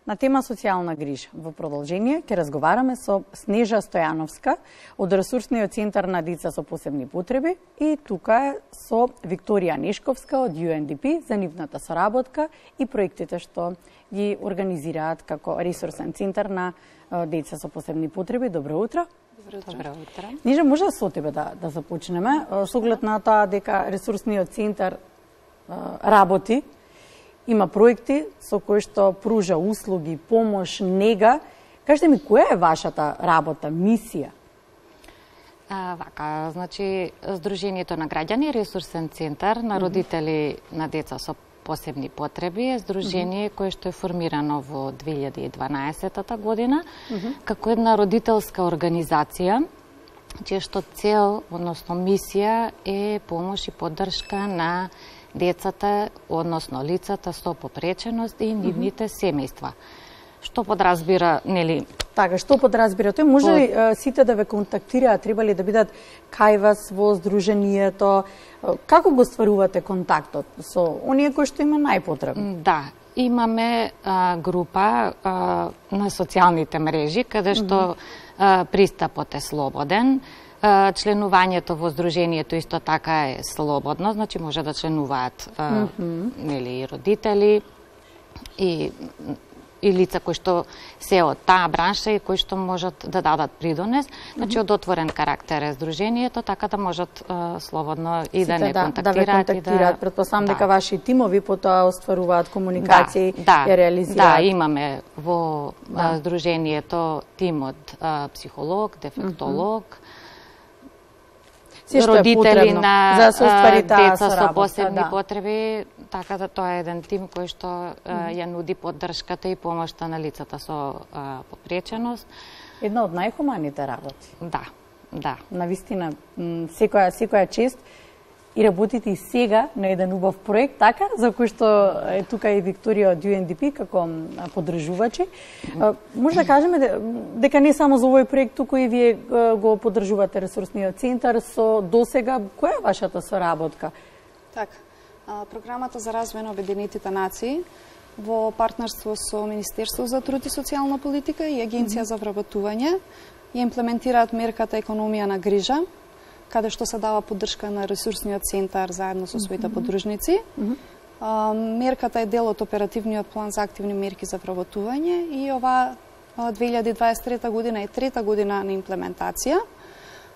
На тема социјална грижа. Во продолжение ќе разговараме со Снежа Стојановска од Ресурсниот центар на деца со посебни потреби и тука е со Викторија Нешковска од UNDP за нивната соработка и проектите што ги организираат како ресурсен центар на деца со посебни потреби. Добро утро. Добро утро. Ниже, може со тебе да започнеме, со оглед на тоа дека Ресурсниот центар работи, има проекти со кои што пружа услуги, помош, нега. Кажете ми, која е вашата работа, мисија? Вака, значи, Сдруженијето на граѓани, Ресурсен центар на родители на деца со посебни потреби е здружение кое што е формирано во 2012 година како една родителска организација, чија што цел, односно мисија е помош и поддршка на децата, односно лицата со попреченост и нивните семејства. Што подразбира, нели? Така, што подразбира тој? Може ли сите да ве контактираат, треба ли да бидат кај вас во здруженијето? Како го стварувате контактот со оние кои што има најпотребно? Да, имаме група на социјалните мрежи, каде што пристапот е слободен. Членувањето во здруженијето исто така е слободно, значи може да членуваат нели родители и лица кои што се од таа бранша и кои што можат да дадат придонес. Значи од отворен карактер е здруженијето, така да можат слободно и да не контактираат. Претпоставам дека ваши тимови потоа остваруваат комуникација и реализираат. Да, имаме во здруженијето тим од психолог, дефектолог, родители на деца со посебни потреби, така да тоа е еден тим кој што ја нуди поддршката и помошта на лицата со попреченост. Една од најхуманите работи. Да. Навистина, секоја чест и работите и сега на еден убав проект, така, за кој што е тука и Викторија од UNDP како поддржувачи. Може да кажеме дека не само за овој проект, туку и вие го поддржувате Ресурсниот центар со досега. Која е вашата соработка? Така, програмата за развој на Обединетите нации во партнерство со Министерство за труд и социјална политика и Агенција за вработување ја имплементираат мерката економија на грижа, каде што се дава поддршка на Ресурсниот центар заедно со своите поддружници. Мерката е дел од оперативниот план за активни мерки за вработување и ова 2023 година е трета година на имплементација.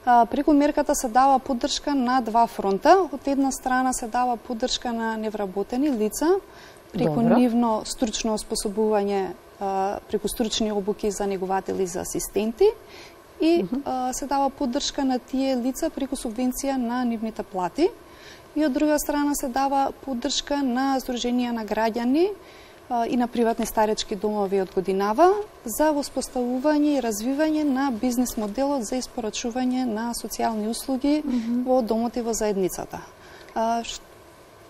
Преку мерката се дава поддршка на два фронта. Од една страна се дава поддршка на невработени лица преку нивно стручно оспособување, преку стручни обуки за негователи и за асистенти, и се дава поддршка на тие лица преку субвенција на нивните плати. И од друга страна се дава поддршка на здруженија на граѓани и на приватни старечки домови од годинава за воспоставување и развивање на бизнес моделот за испорачување на социјални услуги во домот и во заедницата.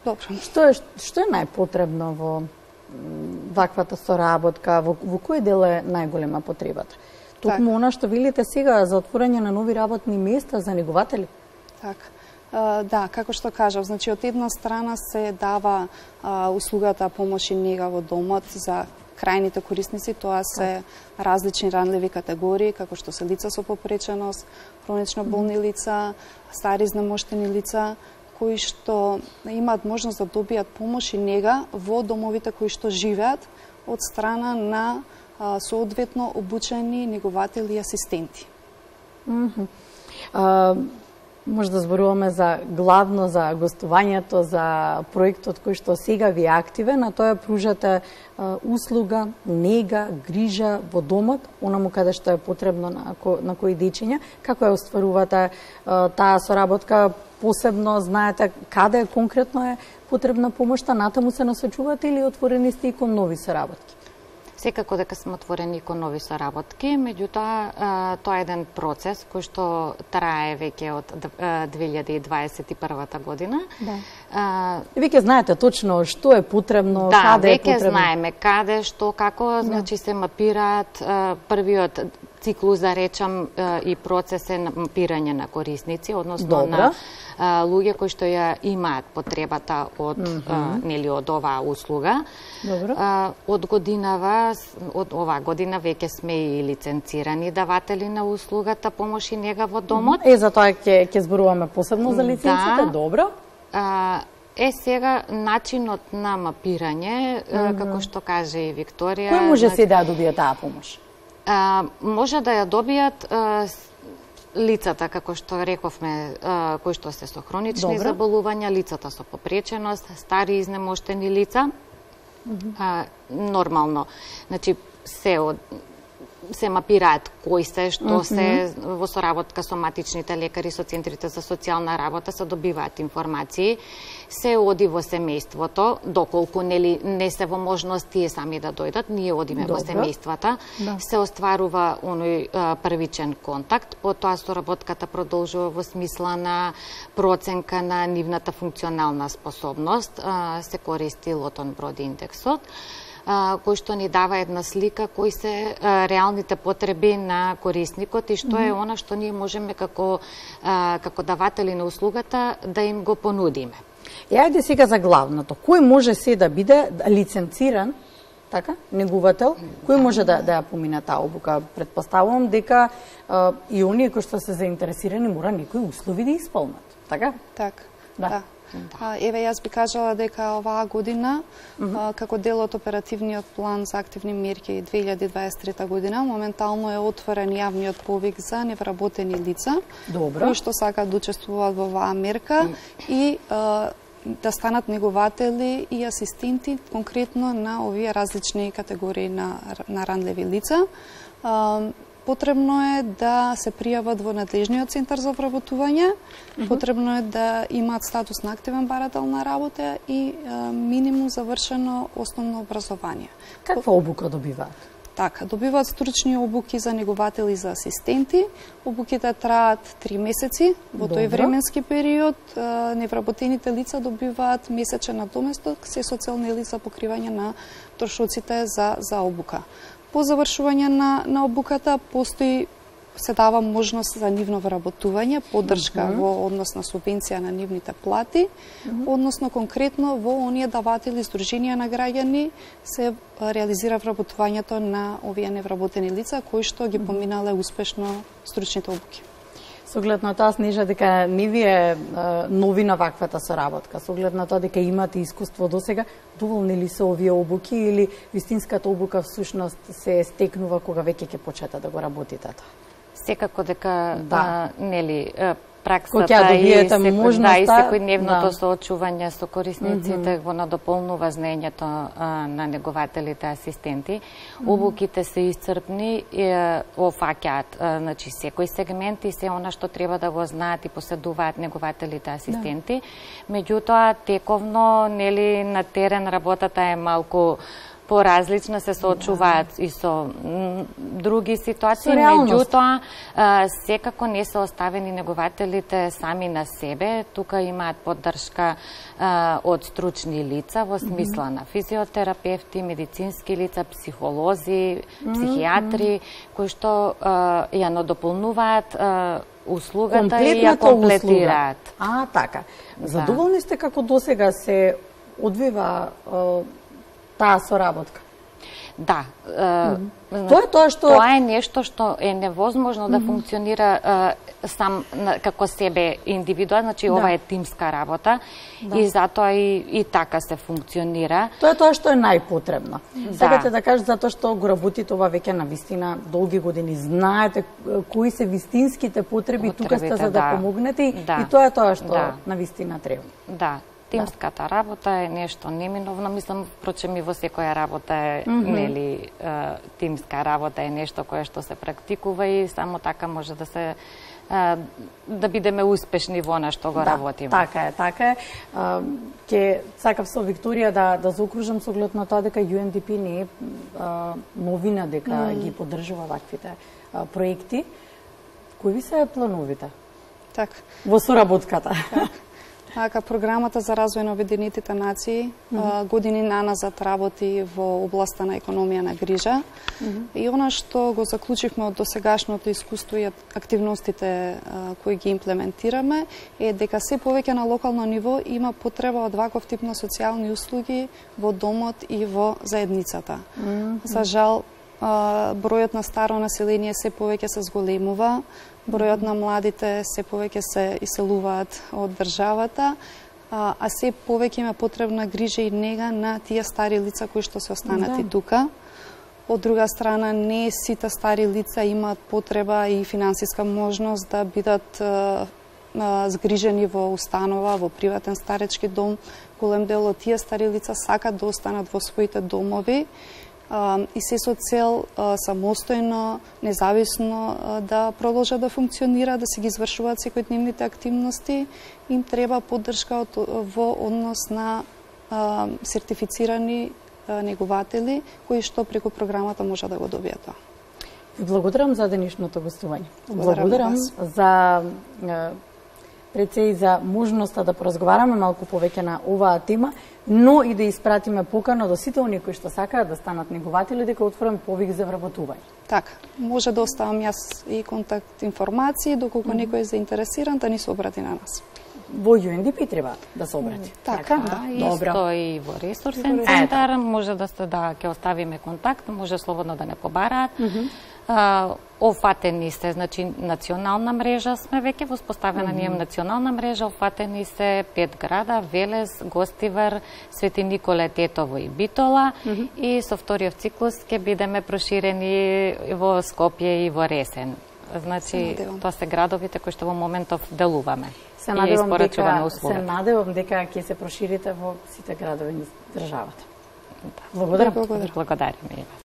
Што е најпотребно во ваквата соработка? Во кој дел е најголема потребата? Токму она што велите сега за отворање на нови работни места за негователи? Така. Да, како што кажав, значи од една страна се дава услугата помош и нега во домот за крајните корисници, тоа се различни ранливи категории, како што се лица со попреченост, хронично болни лица, стари изнемоштени лица, кои што имаат можност да добијат помош и нега во домовите кои што живеат од страна на соодветно обучени негователи и асистенти. Може да зборуваме главно за гостувањето, за проектот кој што сега ви е активен, а тоа пружате услуга, нега, грижа во домот, онаму каде што е потребно на кои дечиња. Како ја остварувате таа соработка? Посебно знаете каде конкретно е потребна помошта, натаму се насочувате или отворени сте и кон нови соработки? Секако дека сме отворени кон нови соработки, меѓутоа тоа е еден процес кој што трае веќе од 2021 година. Веќе знаете точно што е потребно, каде е потребно? Да, веќе знаеме каде, што, како, значи се мапираат првиот циклус, да речам, и процес е мапирање на корисници, односно на луѓе кои што ја имаат потребата од нели од оваа услуга. Од годинава од оваа година веќе сме и лиценцирани даватели на услугата помош и нега во домот. За тоа ќе зборуваме посебно за лиценците, добро. Сега начинот на мапирање, како што каже и Викторија. Кој може се да добие таа помош? Може да ја добијат лицата, како што рековме, кои што се со хронични заболувања, лицата со попреченост, стари изнемоштени лица. Нормално. Значи, се мапираат кои се, што се во соработка со матичните лекари, со центрите за социјална работа, се добиваат информации, се оди во семејството, доколку не се во можност тие сами да дојдат, ние одиме во семејствата, се остварува оној првичен контакт, потоа соработката продолжува во смисла на проценка на нивната функционална способност, се користи Лотон Брод индексот, кој што ни дава една слика кои се реалните потреби на корисникот и што е она што ние можеме како даватели на услугата да им го понудиме. Ајде сега за главното. Кој може се да биде лиценциран, така, негувател, кој може да ја помине таа обука? Претпоставувам дека и оние кои што се заинтересирани мора некои услови да исполнат, така? Така, да. Еве, јас би кажала дека оваа година, како дел од оперативниот план за активни мерки 2023 година, моментално е отворен јавниот повик за невработени лица, кои што сакаат да учествуваат во оваа мерка и да станат негователи и асистенти конкретно на овие различни категории на ранливи лица. Потребно е да се пријават во надлежниот центар за вработување, потребно е да имаат статус на активен барател на работа и минимум завршено основно образование. Каква обука добиваат? Така, добиваат стручни обуки за негователи и за асистенти. Обуките траат 3 месеци. Во тој временски период невработените лица добиваат месечен надоместок се со цел за покривање на трошоците за обука. По завршување на обуката се дава можност за нивно вработување, поддршка во однос на субвенција на нивните плати, односно конкретно во оние даватели здруженија на граѓани се реализира вработувањето на овие невработени лица кои што ги поминале успешно стручните обуки. Со оглед на тоа, Снежа, дека не ви е новина ваквата соработка, со оглед на тоа дека имате искуство досега, доволни ли се овие обуки или вистинската обука всушност се стекнува кога веќе ќе почнете да го работите тоа? Секако дека праксата и секојдневното соочување со корисниците го надополнува знаењето на негователите асистенти. Обуките се исцрпни и офаќаат секој сегмент и се она што треба да го знаат и поседуваат негователите асистенти. Меѓутоа, тековно на терен работата е малку поразлична, се соочуваат и со други ситуации, меѓутоа секако не се оставени негователите сами на себе, тука имаат поддршка од стручни лица во смисла на физиотерапевти, медицински лица, психолози, психијатри, кои што ја надополнуваат услугата и ја комплетираат. Така. Задоволни сте како досега се одвива таа соработка? Да. Тоа е нешто што е невозможно да функционира сам како себе индивидуално, значи ова е тимска работа и затоа и така се функционира. Тоа е тоа што е најпотребно. Сакате да кажете затоа што го работите ова веќе на вистина долги години, знаете кои се вистинските потреби, тука сте за да помогнете и тоа е тоа што на вистина треба. Да. Тимската работа е нешто неминовно, мислам, впрочем и во секоја работа е, тимска работа е нешто кое што се практикува и само така може да се да бидеме успешни во она што го работиме. Така е. Ќе сакав со Викторија да заокружам со оглед на тоа дека UNDP не е новина дека ги поддржува ваквите проекти. Кои ви се плановите? Така. Во соработката? Така, програмата за развој на Обединетите нации години наназад работи во областа на економија на грижа. И она што го заклучивме од досегашното искуство и активностите кои ги имплементираме е дека се повеќе на локално ниво има потреба од ваков тип на социјални услуги во домот и во заедницата. За жал, бројот на старо население се повеќе се зголемува, бројот на младите се повеќе се иселуваат од државата, а се повеќе има потребна грижа и нега на тие стари лица кои што се останати тука. Од друга страна, не сите стари лица имаат потреба и финансиска можност да бидат згрижени во установа, во приватен старечки дом. Голем дел од тие стари лица сакат да останат во своите домови и се со цел самостојно, независно да продолжат да функционираат, да се ги извршуваат секојдневните активности. Им треба поддршка во однос на сертифицирани негователи кои што преку програмата може да го добијат тоа. Ви благодарам за денешното гостување. Благодарам за пред се и за можноста да поразговараме малку повеќе на оваа тема, но и да испратиме покана до сите оние кои што сакаат да станат негователи дека отворам повик за вработување. Така, може да оставам јас и контакт информации, доколку некој е заинтересиран да ни се обрати на нас. Во UNDP треба да се обрати. Така, исто и во ресурсен центар, може да ќе оставиме контакт, може слободно да не побараат. Офатени се, значи национална мрежа сме веќе воспоставена, ние национална мрежа, офатени се 5 града, Велес, Гостивар, Свети Николе, Тетово и Битола, и со вториот циклус ќе бидеме проширени во Скопје и во Ресен. Значи, тоа се градовите кои што во моментов делуваме. Се надевам дека ќе се проширите во сите градови на државата. Благодарам. Благодарам.